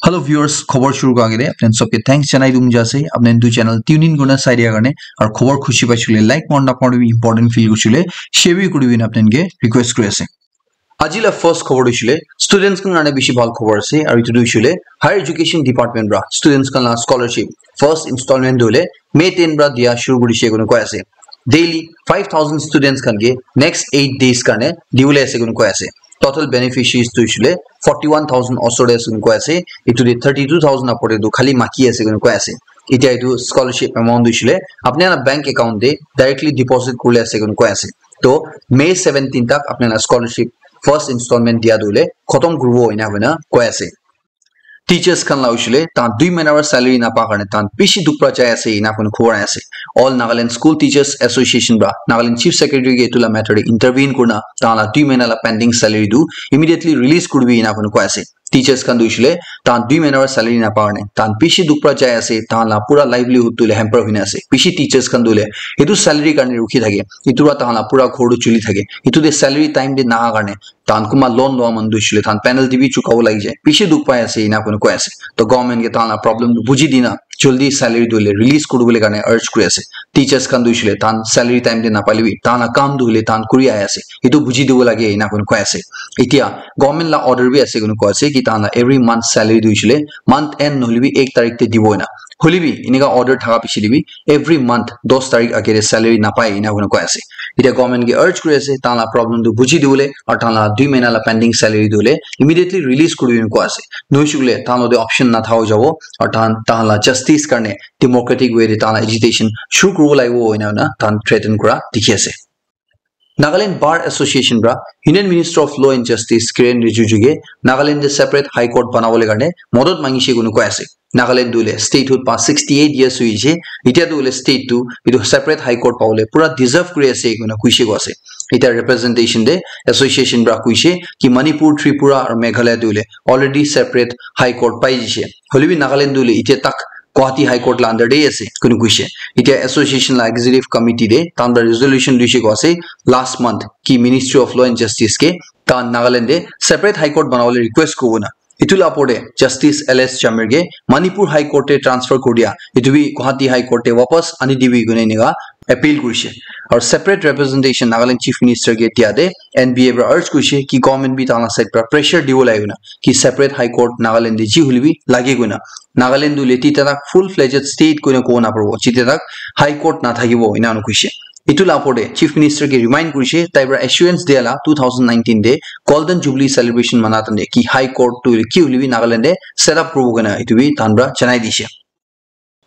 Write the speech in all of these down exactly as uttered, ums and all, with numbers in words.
Hello viewers, khobor shuru kura agete apni khan sob ke thanks janai dum jase. Apni khan etu channel tune in kurina sai dia karne, aru khobor khushi paishe koile like, aru napaishe koile important feel kurishe koile share bi kuri dina apni khan ke request kuri ase. Aji la first khobor tu hoishe koile students khan karne bishi bhal khobor ase, aru etu tu hoishe koile Higher Education Department pra students khan la scholarship first installment tu hoile May ten pra dia shuru kurishe koina koi ase. Daily five thousand students khan ke next eight days karne dibole ase koina koi ase. Total beneficiaries tu hoishe koile forty one thousand osor te ase koina koi ase. Etu te thirty two thousand upor te tu khali maki ase koina koi ase. Etia etu scholarship amount tu hoishe koile apni khan la bank account te directly deposit kuribole ase koina koi ase. To May seventeen tak apni khan la scholarship first installment dia tu hoile khotom kuribo ena koina koi ase. Teachers khan la hoishe koile tahan dui mahina para salary napa karne tahan bishi dukh para jai ase ena koina khobor ahi ase. All Nagaland School Teachers Association pra Nagaland Chief Secretary ke etu la matter te intervene kurina tahan la dui mahina la pending salary tu immediately release kuribi ena koina koi ase. Teachers khan tu hoishe koile tahan dui mahina para salary napa karne tahan bishi dukh para jai ase, tahan la pura livelihood tu hoile hamper hoina ase. Bishi teachers khan tu hoile etu salary karne rukhi thake, etu para tahan la pura ghor tu chuli thake. Etu te salary time te naha karne tahan kunba loan loa manu tu hoishe koile tahan penalty bi chukabo lagi jai. Bishi dukh pai ase ena koina koi ase. To government ke tahan la problem tu buji dina jaldi salary tu hoile release kuribole karne urge kuri ase. Teachers khan tu hoishe koile tahan salary time te napale bi tahan la kam tu hoile tahan kuri ahi ase. Etu buji dibo lage ena koina koi ase. Etia government la order bi ase koina koi ase ki tahan la every month salary tu hoishe koile month end nohoile bi ek tarik te dibo ena. Hoile bi enika order thaka piche te bi every month dos tarik age te salary napai ena koina koi ase. Etia government ke urge kuri ase tahan la problem tu buji dibole aru tahan la dui mahina la pending salary tu hoile immediately release kuribi ena koi ase. Nohoishe koile tahan logote option natha hoi jabo aru tahan, tahan la justice karne democratic way te tahan la agitation shuru kuribo lagibo ena koina tahan threaten kura dikhi ase. Nagaland Bar Association pra Union Minister of Law and Justice Kiren Rijiju ke Nagaland te separate High Court banabole karne modot mangishe koina koi ase. Nagaland tu hoile statehood pa sixty eight years hoishe, etia tu hoile state tu etu separate High Court pabole pura deserve kuri ase koina koishe koi ase. Etia representation te association pra koishe ki Manipur, Tripura aru Meghalaya tu hoile already separate High Court pai jishe. Hoile bi Nagaland tu hoile etia tak Guwahati High Court la under te ase koina koishe. Etia association la executive committee te tahan pra resolution loishe koi ase last month ki Ministry of Law and Justice ke tahan Nagaland te separate High Court banabole request kuribo na. Etu la opor te Justice L S Jamir ke Manipur High Court te transfer kuri dia, etu bi Guwahati High Court te wapas ani dibi koina enika appeal kurishe. Aru separate representation Nagaland Chief Minister ke dia te N B A pra urge kurishe ki government bi tahan la side pra pressure dibo lage koina ki separate High Court Nagaland te ji hoile bi lage koina. Nagaland tu hoile tita tak full fledged state koina kobo naparibo jita tak High Court nathakibo ena koishe. Etu la opor te Chief Minister ke remind kurishe, tai pra assurance dia la two thousand nineteen te Golden Jubilee celebration mana time te ki High Court tu ki hoile bi Nagaland te set up kuribo koina etu bi tahan pra janai dishe.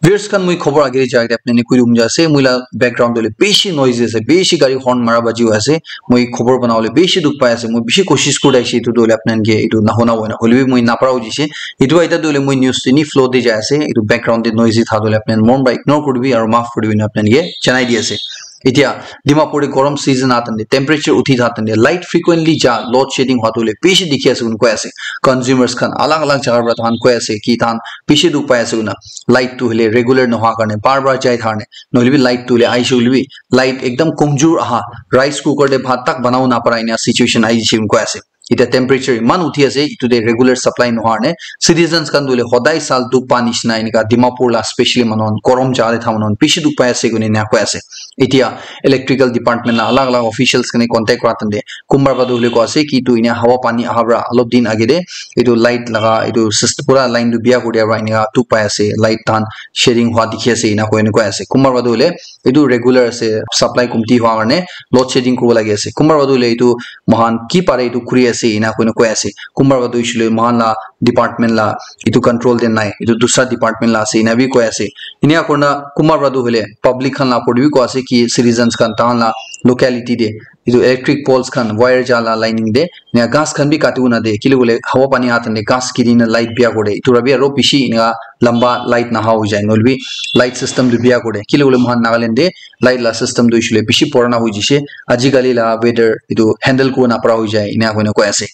Viewers khan, moi khobor age te jai kena apni khan ke koi dum ja ase, moi la background te hoile bishi noise ase, bishi gari horn mara baji ase, moi khobor banabole bishi dukh pai ase, moi bishi koshish kuri thakishe etu tu hoile apni khan ke etu nahuna hoina, hoile bi moi napara hoishe, etu eta tu hoile moi news te ni flow te jai ase, etu background te noisy tha tu hoile apni khan mon para ignore kuri dibi aru maaf kuri dibi na apni khan ke janai di ase. Etia Dimapur te gorom season aha time te, temperature uthi aha time te, light frequently ja, load shedding hua tu hoile bishi dikhi ase koina koi ase. Consumers khan alag alag jaga para tahan koi ase ki tahan bishi dukh pai ase koina. Light tu hoile regular nohua karne, bar bar jai karne, nohoile bi light tu hoile aishe hoile bi light ekdam komjor aha, rice cooker te bhat tak banabo napara ena situation aishe koina koi ase. Etia temperature iman uthi ase, etu te regular supply nohwa karne citizens khan tu hoile hodai sal dukh pa nishina enika Dimapur la specially manu khan gorom jaga te thakia manu khan bishi dukh pai ase koina ena koi ase. Etia electrical department la alag alag officials khan ke contact kura time te kunba para tu hoile koi ase ki etu ena hawa pani aha para olop din age te etu light laga etu syst-, pura line tu biya kuri dia para enika dukh pai ase, light tahan shedding hua dikhi ase ena koina koi ase. Kunba para tu hoile etu regular ase, supply komti hua karne load shedding kuribo lagi ase. Kunba para tu hoile etu moikhan ki pare etu kuri ase ena koina koi ase. Kunba para tu hoishe koile moikhan la department la etu control te nai, etu dusra department la ase ena bi koi ase. Ena kurina kunba para tu hoile public khan la opor te bi koi ase ki citizens khan tahan la locality te etu electric poles khan wire ja la lining te ena ghas khan bi kati bo na de, kile koile hawa pani aha time te ghas giri na light biya kore, etu para bi aru bishi ena lamba light naha hoi jai, nohoile bi light system tu biya kore. Kile koile moikhan Nagaland te light la system tu hoishe koile bishi purana hoi jaishe. Ajikali la weather etu handle kuribo napara hoi jai, ena koina koi ase.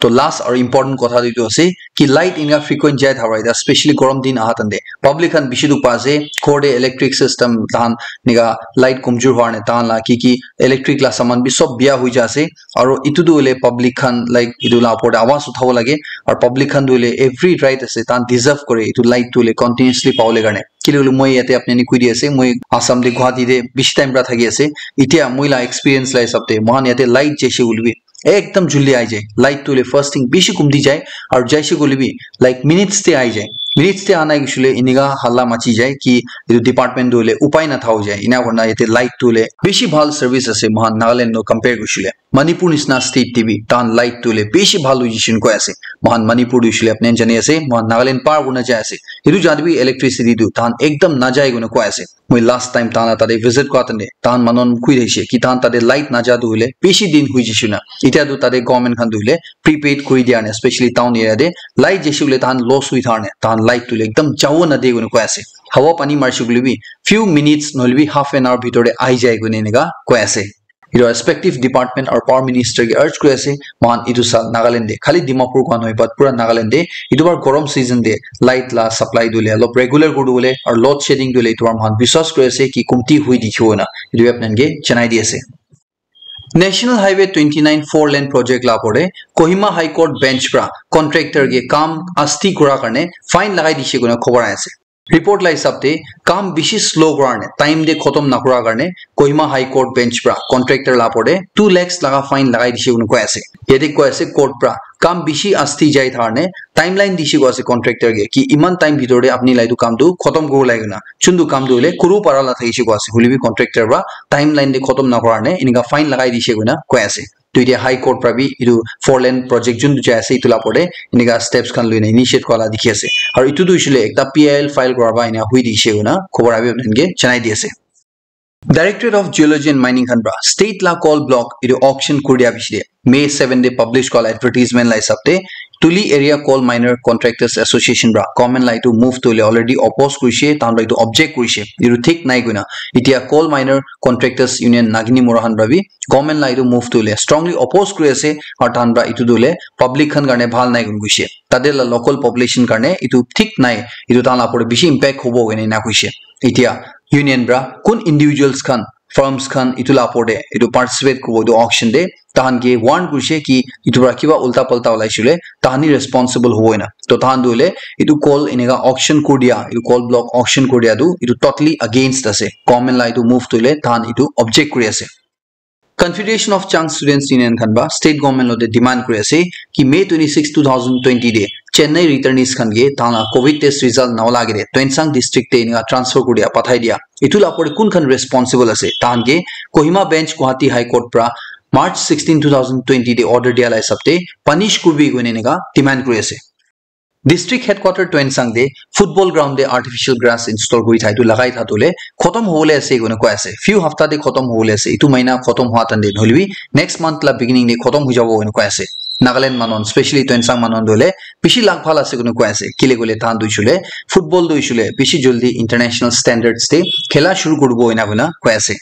To last aru important kotha tu etu ase ki light enika frequent jai thaka para, especially gorom din aha time te public khan bishi dukh pa ase. Ghor te electric system tahan enika light komjor hua karne tahan la ki ki electric la saman bi sob biya hoi ja ase. Aro itu tu hoile public khan, like, itu la opor te awaaz uthabo lage. Aro public khan tu hoile every right ase, tahan deserve kore itu light tu hoile continuously pabole karne. Kile hoile moi yate apni khan ke koi di ase, moi Assam te Guwahati te bishi time pra thaki ase. Itya moi la experience la hisab te moikhan yate light jaise hoile bi ekdam juldi ahi jai. Light tu hoile first thing bishi kumti jai, aro jaise koile bi, like, minutes te ahi jai. Minutes te anai gusile inika halla machi jai ki itu department tu hoile upai na thao jai. Ina kurna yate light tu hoile bishi bhal service ase moikhan Nagaland lo compare gusile. Manipur nisna state te bi tahan light tu hoile bishi bhal hoi jishin koi ase. Moikhan Manipur tu hoile apni jani ase, moikhan Nagaland par kurna jai ase. Itu jat bi electricity tu tahan ekdam najai koina koi ase. Moi last time tahan la tate visit kura tande, tahan manu khan koi thakishe ki tahan tate light naja tu hoile bishi din hoi jishe na. Itya tu tate government khan tu hoile prepaid kuri dia ne, especially town area te light jaise hoile tahan loss hoi thar ne, tahan light tu hoile ekdam jabo na de koina koi ase. Hawa pani marishe koile bi few minutes nohoile bi half an hour bhitor te ahi jai koina enika koi ase. Etu respective department aru power minister ke urge kuri ase, moikhan etu saal Nagaland te, khali Dimapur koa nohoi, but pura Nagaland te, etu baar gorom season te light la supply tu hoile olop regular kuri bole, aru load shedding tu hoile etu baar moikhan biswas kuri ase ki kumti hui dikhibo na, etu bi apni khan ke janai di ase. National Highway twenty nine four lane project la opor te Kohima High Court bench pra contractor ke kam asti kura karne fine lagai dishe koina khobor ahi ase. Report la hisab te kam bishi slow kura karne, time te khotom nakura karne Kohima High Court bench pra contractor la opor te two lakhs laga fine lagai dishe koina koi ase. Yate koi ase court pra kam bishi asti jai thar ne timeline dishe koi ase contractor ke ki iman time bhitor te apni la etu kam tu khotom kuribo lage koina. Chuntu kam tu hoile kuru para la thakishe koi ase. Hoile bi contractor pra timeline te khotom nakura ne enika fine lagai dishe koina koi ase. Tu etia High Court pra bi etu four lane project juntu jai ase etu la opor te enika steps khan loina initiate kura la dikhi ase. Aru etu tu hoishe le ekta P I L file kura ba ena hui dikhi ase koina khobor abi apni khan ke janai di ase. Directorate of Geology and Mining khan pra state la coal block etu auction kuri dia bishi de May seven te publish kura la advertisement la hisab te Tuli Area Coal Miner Contractors Association pra government la etu move tu hoile already oppose kurishe, tahan pra etu object kurishe, etu thik nai koina. Etia Coal Miner Contractors Union Nagini Mora khan pra bi government la etu move tu hoile strongly oppose kuri ase, aru tahan pra etu tu hoile public khan karne bhal nai koina koishe. Tate la local population karne etu thik nai, etu tahan la opor te bishi impact hobo koina ena koishe. Etia union pra kun individuals khan, firms khan etu la opor te etu participate kuribo etu auction te, tahan ke warn kurishe ki etu pra kiba ulta palta ulai shile tahan hi responsible hobo ena. To tahan tu hoile etu coal enika auction kuri dia, etu coal block auction kuri dia tu etu totally against ase. Government la etu move tu hoile tahan etu object kuri ase. Confederation of Chang Students Union khan pra state government lote demand kuri ase ki May twenty six, two thousand twenty te Chennai returnees khan ke tahan la covid test result na ola agete Tuensang district te enika transfer kuri dia, pathai dia. Etu la opor te kun khan responsible ase? Tahan ke Kohima bench Guwahati High Court pra March sixteen, two thousand twenty te order dia la hisab te punish kuribi koina enika demand kuri ase. District headquarter Tuensang te football ground te artificial grass install kuri thai tu lagai tha tu le khotom hobole ase koina koi ase. Few hafta te khotom hobole ase. Etu mahina khotom hua tan te nohole bi next month la beginning te khotom hoi jabo koina koi ase. Nagaland manu khan, specially Tuensang manu khan tu hoile bishi lak bhal ase koina koi ase. Kile koile tahan tu hoishe le football tu hoishe le bishi jaldi international standards te khela shuru kuribo ena koina koi ase.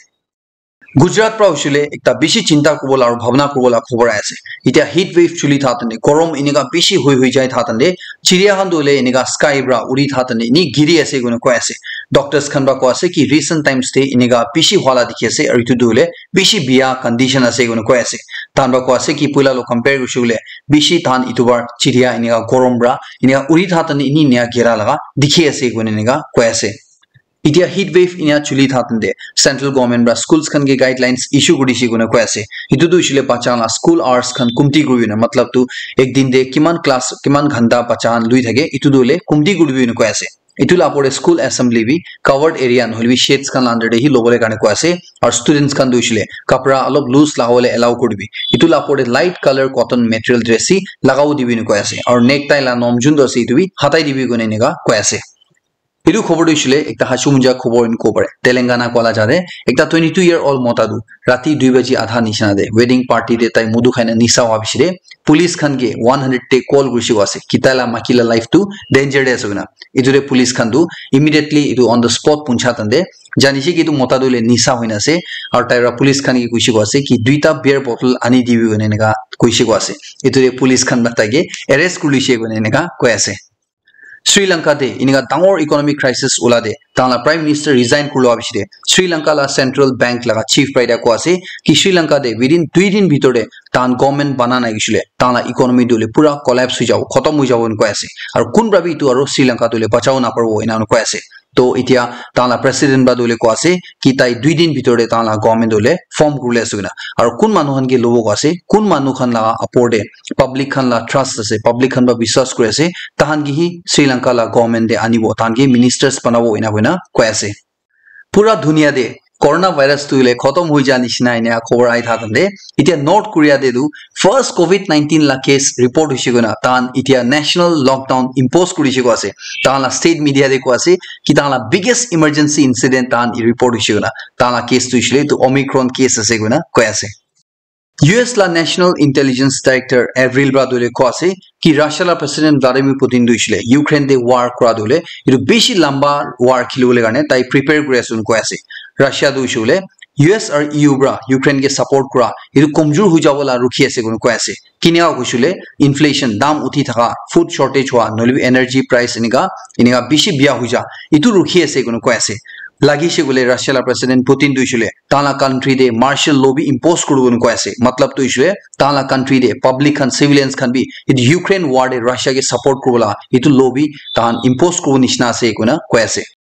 Gujarat pra hoishe le ekta bishi chinta kuribo la aru bhabna kuribo la khobor ahi ase. Etia heat wave chuli tha tande, gorom enika bishi hoi hoi jai tha tande, chiriya khan tu hoile enika sky pra uri tha tande, eni giri ase koina koi ase. Doctors khan pra koi ase ki recent times te enika bishi hua la dikhi ase, aru etu tu hoile bishi biya condition ase koina koi ase. Tahan pra koi ase ki puila lo compare kurishe koile bishi tahan etu bar chiriya enika gorom pra enika uri tha tande eni enia gira laga dikhi ase koina enika koi ase. Etia heat wave enia chuli tha tande central government pra schools khan ke guidelines issue kuri dishe koina koi ase. Etu tu hoishe le bacha khan la school hours khan kumti kuri na, matlab tu ek din te kiman class, kiman ghanta bacha khan lui thake, etu tu hoile kumti kuri na koi ase. Etu la opor te school assembly bi covered area nohole bi shades khan la under te hi lobole karne koi ase. Aru students khan tu hoishe le kapra olop loose lagabole allow kuri dibi. Etu la opor te light colour cotton material dress hi lagabo dibi na koi ase. Aru necktie la nom juntu ase etu bi hatai dibi koina enika koi ase. Etu khobor tu hoishe le ekta hachu muja khobor enika kobo pare. Telangana koa la jate ekta twenty two year old mota tu rati dui baji adha nishina te wedding party te tai mudu khai na nisa hua bishi te police khan ke one hundred te call kurishe koi ase ki tai la maiki la life tu danger te ase koina. Etu te police khan tu immediately etu on the spot puncha tande janishe ki etu mota tu hoile nisa hoina ase, aru tai para police khan ke koishe koi ase ki duita beer bottle ani dibi koina enika koishe koi ase. Etu te police khan para tai ke arrest kuri loishe koina enika koi ase. Sri Lanka te inika dangor economic crisis ula te tahan la prime minister resign kurlo bishi te Sri Lanka la central bank laga chief para ite koa ase ki Sri Lanka te within dui din bhitor te tahan government bana nai kishile tahan la economy tu le pura collapse hui jabo, khotom hui jabo koi ase. Aru kun para bi itu aru Sri Lanka tu le bachabo naparibo ena koi ase. To itia tahan la president para tu le koa ase ki tai dui din bhitor te tahan la government tu le form kurle ase koi na. Aru kun manu khan ke lobo koa ase, kun manu khan la apor te public khan la trust ase, public khan para biswas kuri ase, tahan ke hi Sri Lanka la government te anibo, tahan ke ministers banabo ena koi na koi ase. Pura dunia te coronavirus tu le khotom hui ja nishina ena khobor ai tha tante. Itia North Korea te tu first covid nineteen la case report hoise koi na tahan itia national lockdown impose kuri se koi ase. Tahan la state media te koi ase ki tahan la biggest emergency incident tahan report hoise koi na. Tahan la case tu hoise le tu Omicron case ase koi na koi ase. U S la National Intelligence Director Avril para tu le koi ase ki Russia la President Vladimir Putin tu hoise le Ukraine te war kura tu le itu bishi lamba war khilibole karne tai prepare kuri ase koi ase. Russia tu hoise le U S aru E U para Ukraine ke support kura itu komjor hui jabo la rukhi ase koi ase. Kinika hoise le inflation, dam uthi thaka, food shortage hua, nohole bi energy price enika enika bishi bia hui ja itu rukhi ase koi ase. Lagi se koi le Russia la President Putin tu hoise le tahan la country te martial law bi impose kuribo koi ase. Matlab tu hoise le tahan la country te public khan, civilians khan bi itu Ukraine war te Russia ke support kuribo la itu law bi tahan impose kuribo nishina ase koi na koi ase.